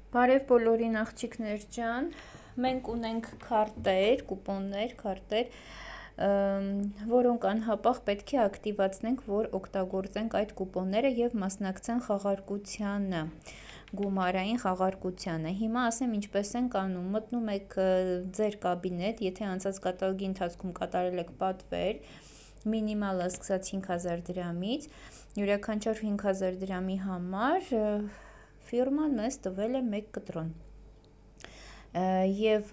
Բարև բոլորին աղջիկներ ջան, մենք ունենք քարտեր, կուպոններ, քարտեր, որոնք անհապաղ պետք է ակտիվացնենք, որ օգտագործենք այդ կուպոնները և մասնակցեն խաղարկությանը, գումարային խաղարկությանը։ Հիմա ասեմ ինչպես ենք անում, մտնում եք ձեր կաբինետ, եթե անցած կատալոգի ընթացքում կատարել եք պատվեր, մինիմալը սկսած 5000 դրամից, յուրաքանչյուր 5000 դրամի համար ֆիրման մեզ տվել է 1 կտրոն և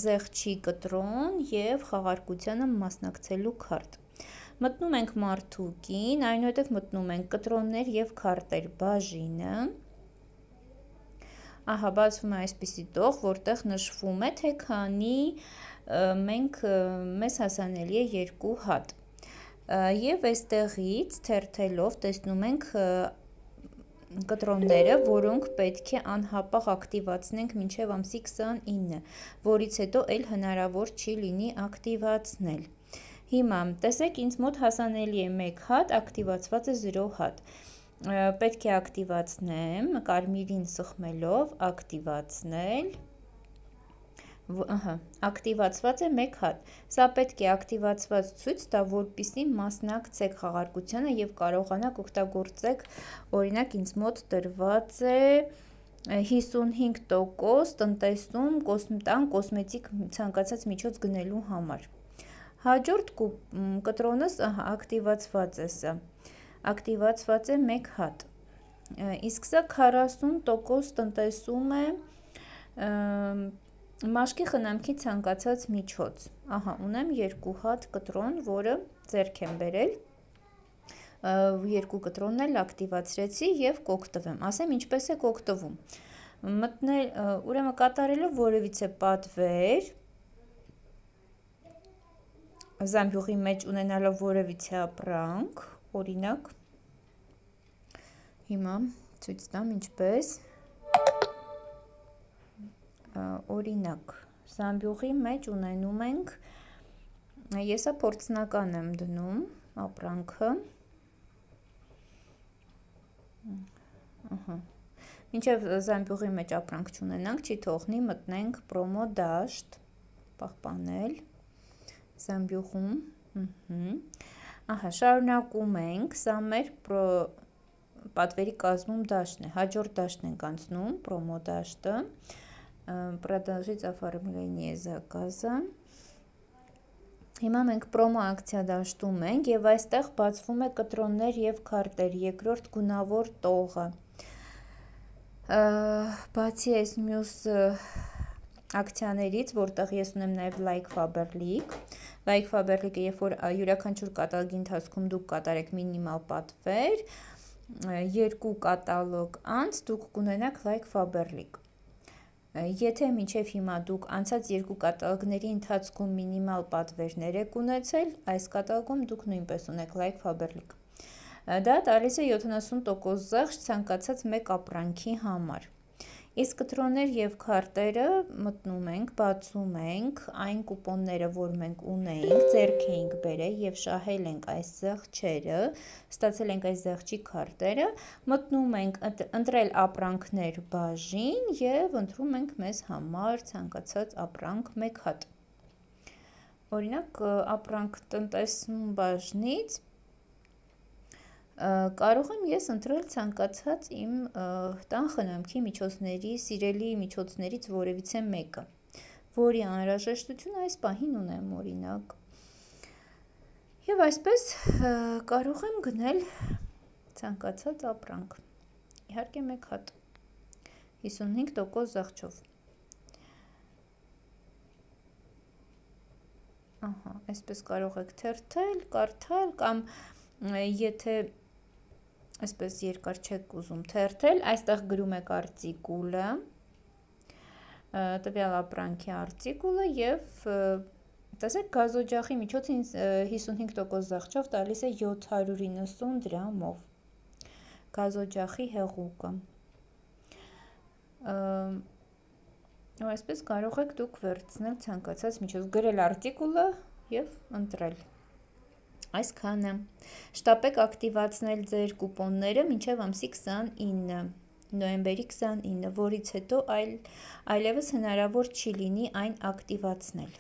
զեղչի կտրոն և խաղարկությանը մասնակցելու քարտ։ Մտնում ենք մարդուկին, այնուհետև մտնում ենք կտրոններ և քարտեր բաժինը, ահա բացվում է այսպիսի տող, որտեղ նշվում է, թե քանի մեզ հասանելի է 2 հատ։ Եվ այստեղից թերթելով տեսնում ենք կտրոնները, որոնք պետք է անհապաղ ակտիվացնենք մինչև ամսի 29, որից հետո էլ հնարավոր չի լինի ակտիվացնել։ Հիմա տեսեք ինձ մոտ հասանելի է 1 հատ, ակտիվացված է 0 հատ։ Պետք է ակտիվացնեմ, կարմիրին սխմելով, ակտիվացնել, ակտիվացված է 1 հատ, սա պետք է ակտիվացված ցույց տա, որպեսզի մասնակցեք խաղարկությանը և կարողանաք օգտագործեք, օրինակ ինձ մոտ տրված է 55% տնտեսում տան կոսմետիկ ցանկացած միջոց գնելու համար։ Հաջորդ կտրոնս ակտիվացված է սա, ակտիվացված է 1 հատ, իսկ սա 40% տնտեսում է մաշկի խնամքի ցանկացած միջոց, ահա ունեմ 2 հատ կտրոն, որը ձեռք եմ բերել, 2 կտրոնն էլ ակտիվացրեցի և կօգտվեմ, ասեմ ինչպես եք օգտվում, ուրեմն կատարելով որևիցե պատվեր, զամբյուղի մեջ ունենալով որևիցե ապրանք, օրինակ, հիմա ցույց տամ ինչպես, օրինակ, զամբյուղի մեջ ունենում ենք, եսա փորձնական եմ դնում ապրանքը, մինչև զամբյուղի մեջ ապրանք չունենանք, չի թողնի մտնենք պրոմո դաշտ, պահպանել, զամբյուղում, ահա շարունակում ենք, սա մեր պատվերի կազմում դաշտն է, հաջորդ դաշտն ենք անցնում, պրոմո դաշտը, продолжить оформление заказа, հիմա մենք պրոմո ակցիա դաշտում ենք և այստեղ բացվում է կտրոններ և քարտեր, երկրորդ գունավոր տողը, բացի այս մյուս ակցիաներից, որտեղ ես ունեմ նաև Like Faberlic, Like Faberlic-ը երբ որ յուրաքանչյուր կատալոգի ընթացքում դուք կատարեք մինիմալ պատվեր, 2 կատալոգ անց դուք կունենաք Like Faberlic, եթե մինչև հիմա դուք անցած 2 կատալոգների ընթացքում մինիմալ պատվերներ եք ունեցել, այս կատալոգում դուք նույնպես ունեք Like Faberlic, դա տալիս է 70% զեղչ ցանկացած մեկ ապրանքի համար, իսկ կտրոններ և քարտերը մտնում ենք, բացում ենք, այն կուպոնները, որ մենք ունեինք, ձեռք էինք բերել և շահել ենք այս զեղչերը, ստացել ենք այս զեղչի քարտերը, մտնում ենք ընտրել ապրանքներ բաժին և ընտրում ենք մեզ համար ցանկացած ապրանք 1 հատ, օրինակ ապրանք տնտեսում բաժնից, կարող եմ ես ընտրել ցանկացած իմ տան խնամքի միջոցների, սիրելի միջոցներից որևիցե մեկը, որի անհրաժեշտություն այս պահին ունեմ օրինակ, և այսպես կարող եմ գնել ցանկացած ապրանք, իհարկե 1 հատ, 55% զեղչով, այսպես կարող եք թերթել, կարդալ կամ եթե այսպես երկար չեք ուզում թերթել, այստեղ գրում եք արտիկուլը, տվյալ ապրանքի արտիկուլը և տեսեք գազօջախի միջոցը 55% զեղչով տալիս է 790 դրամով, գազօջախի հեղուկը, այսպես կարող եք դուք վերցնել ցանկացած միջոց, գրել արտիկուլը և ընտրել, այսքանը, շտապեք ակտիվացնել ձեր կուպոնները մինչև ամսի 29, նոյեմբերի 29, որից հետո այլևս հնարավոր չի լինի այն ակտիվացնել։